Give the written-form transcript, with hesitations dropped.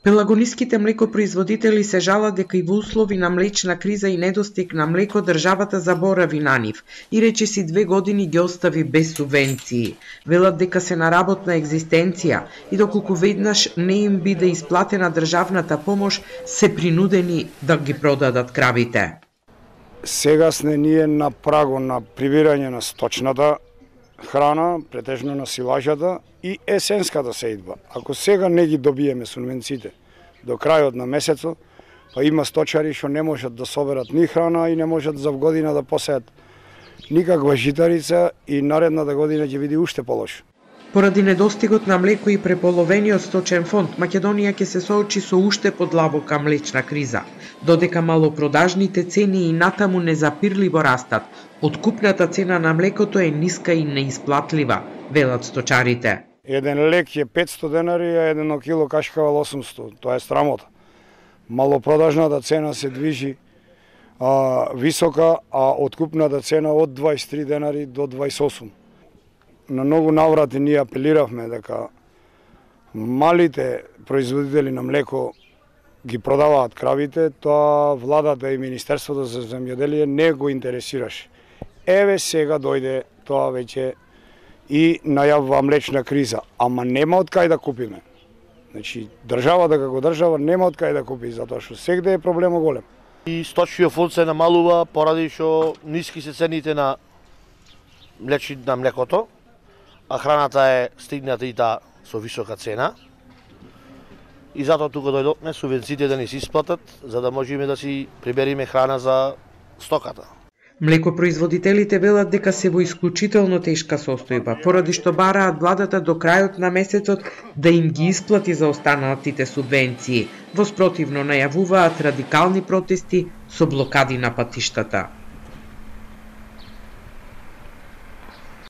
Пелагониските млекопроизводители се жалат дека и во услови на млечна криза и недостиг на млеко државата заборави на нив и речиси 2 години ги остави без субвенции. Велат дека се на работна екзистенција и доколку веднаш не им биде исплатена државната помош, се принудени да ги продадат кравите. Сега сме ние на прагу на прибирање на сточната храна, претежно на силажата и есенската сеидба. Ако сега не ги добиеме субвенциите до крајот на месецот, па има сточари што не можат да соберат ни храна и не можат за година да посеат никаква житарица и наредната година ќе биде уште полошо. Поради недостигот на млеко и преполовениот сточен фонд, Македонија ќе се соочи со уште подлабока млечна криза, додека малопродажните цени и натаму незапирливо растат. Откупната цена на млекото е ниска и неисплатлива, велат сточарите. Еден лек е 500 денари, а едно кило кашкавал 800. Тоа е срамота. Малопродажната цена се движи висока, а откупната цена од 23 денари до 28. На многу наврати ние апелиравме дека малите производители на млеко ги продаваат кравите, тоа владата и Министерството за земјоделие не го интересираше. Еве сега дојде тоа веќе и најавува млечна криза, ама нема од кај да купиме. Значи, државата како држава нема од кај да купи, затоа што сегде е проблемот голем. И сточниот фонд се намалува поради што ниски се цените на млекото, а храната е стигната и таа со висока цена. И затоа тука дојдовме субвенциите да ни се исплатат, за да можеме да си прибериме храна за стоката. Млекопроизводителите велат дека се во исклучително тешка состојба, поради што бараат владата до крајот на месецот да им ги исплати за останатите субвенции. Во спротивно најавуваат радикални протести со блокади на патиштата.